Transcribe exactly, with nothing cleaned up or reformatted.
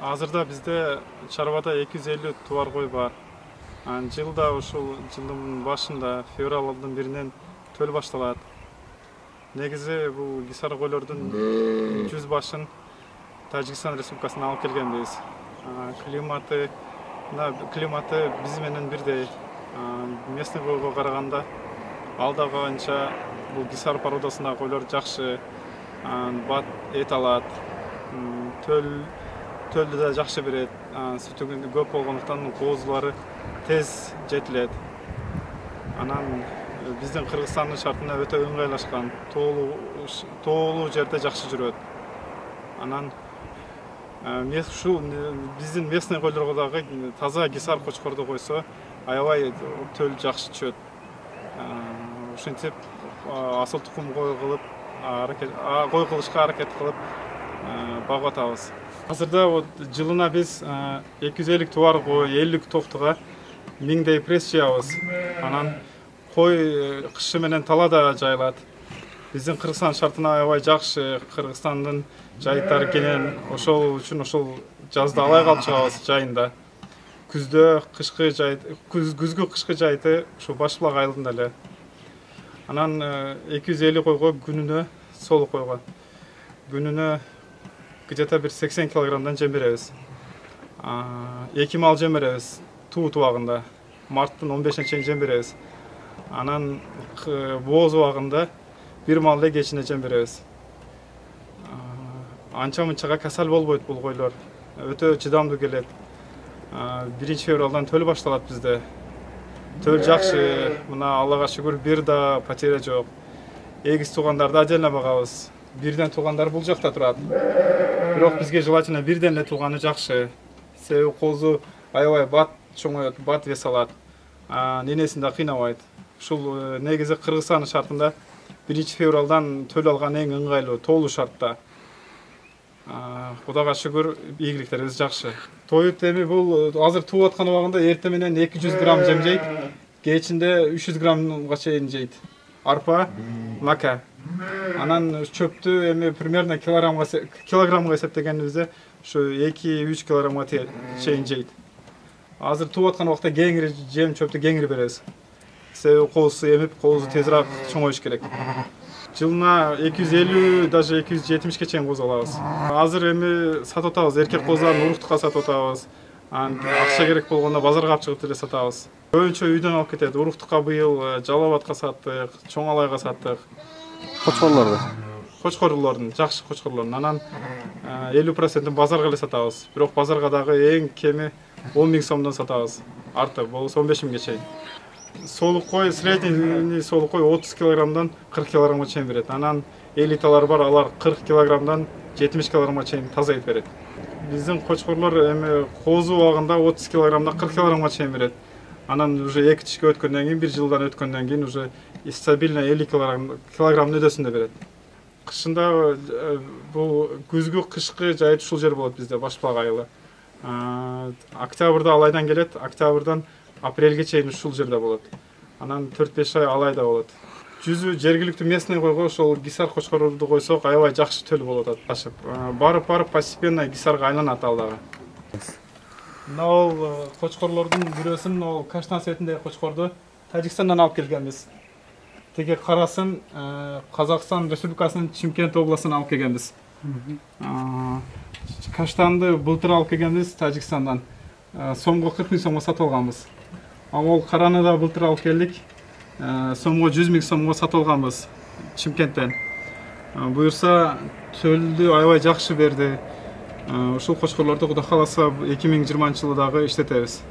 Азырда бизде чарбада эки жүз элүү тубар кой бар. Жылда ушул жылдын башында февралдын биринен төл башталат. Негизи бул кисар койлордун жүз башын Тажикстан Республикасынан алып келгенбиз. Климаты климаты биз менен бирдей. Местный койго караганда ал дагы анча бул кисар породасындагы койлор жакшы бат эт алат. Төл Төлдү да жакшы берет. Сүтү көп болгондуктан коозулары тез жетилет. Анан биздин Кыргызстандын шартына өтө ыңгайлашкан. Тоолуу тоолуу жерде жакшы жүрөт. Анан ушул биздин местный койлорго дагы таза кисар кочкорду койсо, аябай төл жакшы түшөт. Ушинтип асыл тукум кой кылып, кой кылышка аракет кылып багып атабыз. Азырда вот жылына биз эки жүз элүү тубар кой, элүү токтуга миңдей пресс жаябыз. Анан кой кышы менен талаада жайылат. Биздин Кыргызстан шартына аябай жакшы. Кыргызстандын жайыттары кенен, ошол үчүн ошол жазда алай калып чыгабыз жайында. Күздө кышкы жайыт, күзгү кышкы жайыты ушу Башбулак айылында эле. Анан эки жүз элүү койго күнүнө солук койгон. Күнүнө где-то bir сексен килограммдан жем беребиз. эки мал жем беребиз туу убагында. Марттын он бешине чейин жем беребиз. Анан бооз убагында бир мал эле кечине жем беребиз. Анча мынчага касал болбойт бул койлор. Өтө чыдамдуу келет. биринчи февралдан төл башталат бизде. Төл жакшы. Мына Аллага шүгүр бир да потеря жок. Эгиз туугандарды отдельно багабыз. Бирден туугандар бул жакта турат. Бирок бизге желательно бирден эле тууганы жакшы. Себеби коозу аябай бат чоңоет, бат вес алат. Ненесин да кыйнабайт. Ушул негизи Кыргызстандын шартында биринчи февралдан төл алган эң ыңгайлуу, тоолуу шартта. Кудайга шүгүр, ийгиликтерибиз жакшы. Тоют эми бул азыр тууп аткан убагында эртең менен эки жүз грамм жем жейт, кечинде үч жүз граммга чейин жейт. Арпа, мака. Анан чөптү эми примерно килограммга килограммга эсептегенибизде ушу эки үч килограммга чейин жейт. Азыр тууп аткан убакта кеңири жем чөптү кеңири беребиз. Себеби коозу эмип, коозу тезирээк чоңоюш керек. Жылына эки жүз элүү, даже эки жүз жетимишке чейин кооз алабыз. Азыр эми сатып атабыз, эркек коозларын уруктукка сатып атабыз. Акча керек болгондо базарга алып чыгып деле сатабыз. Көбүнчө үйдөн алып кетет. Уруктукка быйыл Жалал Абадка саттык, Чоң Алайга саттык. Кочкорлорду. Кочкорлордун, жакшы кочкорлордун. Анан элүү процентин базарга эле сатабыз. Бирок базарга дагы эң кеми он миң сомдон сатабыз. Артык болсо он беш миңге чейин. Солук кой, средний солук кой отуз килограммдан кырк килограммга чейин берет. Анан элиталар бар, алар кырк килограммдан жетимиш килограммга чейин таза эт берет. Биздин кочкорлор эми коозу убагында отуз килограммдан кырк килограммга чейин берет. Анан уже эки тишке өткөндөн кийин, бир жылдан өткөндөн кийин уже стабильно элүү килограмм өдөсүндө берет. Кышында бул күзгү кышкы жайыт ушул жер болот бизде, Башбулак айылы. Октябрда алайдан келет, октябрдан апрелге чейин ушул жерде болот. Анан төрт беш ай алайда болот. Жүзү жергиликтүү местный койго ошол кисар кочкорду койсок, аябай жакшы төл болот аташып. Барып-барып постепенно кисарга айланат ал дагы. Мына ол кочкорлордун бирөөсүн, ол каштан светиндеги кочкорду Тажикстандан алып келгенбиз. Теги карасын Казакстан Республикасынын Чимкент областынан алып келгенбиз. Каштанды былтыр алып келгенбиз Тажикстандан. Сомго кырк миң сомго сатып алганбыз. Ал караны да былтыр алып келдик. Сомго жүз миң сомго сатып алганбыз Чимкенттен. Буюрса төлдү аябай жакшы берди. Ушул кочкорлорду Кудай кааласа эки миң жыйырманчы жылы дагы иштетебиз.